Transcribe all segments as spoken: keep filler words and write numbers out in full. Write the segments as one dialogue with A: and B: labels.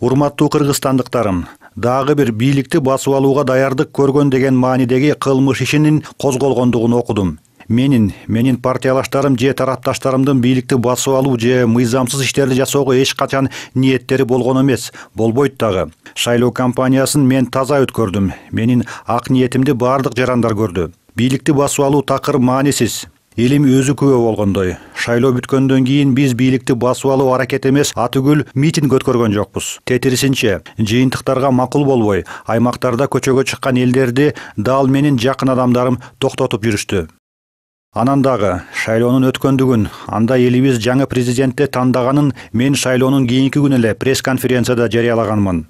A: Урматтуу кыргызстандыктарым, дагы бир бийликти басып алууга даярдык көргөн деген маанидеги кылмыш ишинин козголгондугун окудум. Менин, менин партиялаштарым же тарапташтарымдын бийликти басып алуу же мыйзамсыз иштерди жасоого эч качан ниеттери болгон эмес, болбойт дагы. Шайлоо кампаниясын мен таза өткөрдүм. Менин ак ниетимди бардык жарандар көрдү. Бийликти басып алуу такыр маанисиз. Элим өзү күбө болгондой. Шайлоо бүткөндөн кийин биз бийликти басып алуу аракет эмес, атүгүл митинг өткөргөн жокпуз. Тетирисинче, жыйынтыктарга макул болбой, аймактарда көчөгө чыккан элдерди дал менин жакын адамдарым токтотуп жүрүштү. Анан дагы шайлоонун өткөндүгүн, анда элибиз жаңы президентти тандаганын мен шайлоонун кийинки күнү эле пресс-конференцияда жарыялаганмын.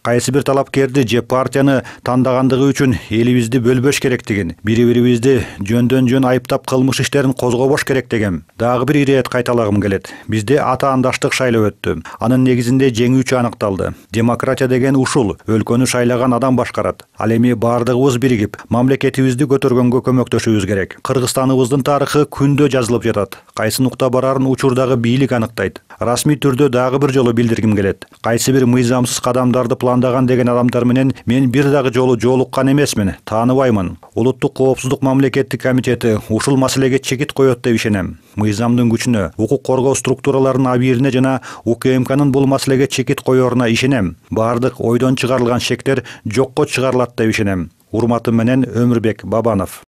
A: Кайсы бир талапкерди же партияны тандагандыгы үчүн элибизди бөлбөш керектигин, бири-бирибизди жөндөн жөн айыптап кылмыш иштерин козгобош керек деген дагы бир ирет кайталагым келет. Бизде атаандаштык шайлоо өттү. Анын негизинде жеңүүчү аныкталды. Демократия деген ушул, өлкөнү шайлаган адам башкарат. Ал эми бардыгыбыз биригип, мамлекетибизди көтөргөнгө көмөктөшүбүз керек. Кыргызстаныбыздын тарыхы күндө жазылып жатат. Кайсы нукта барарын учурдагы бийлик аныктайт. Расмий түрдө дагы бир жолу билдиргим келет. Кайсы бир мыйзамсыз кадамдарды пландаган деген адамдар менен мен бир дагы жолу жолуккан эмесмин, тааныбаймын. Улуттук коопсуздук мамлекеттик комитети ушул маселеге чекит коет деп ишенем. Мыйзамдын күчүнө, укук коргоо структураларынын абийирине жана УКМКнын бул маселеге чекит коеруна ишенем. Бардык ойдон чыгарылган шектер жокко чыгарылат деп ишенем. Урматым менен Өмүрбек Бабанов.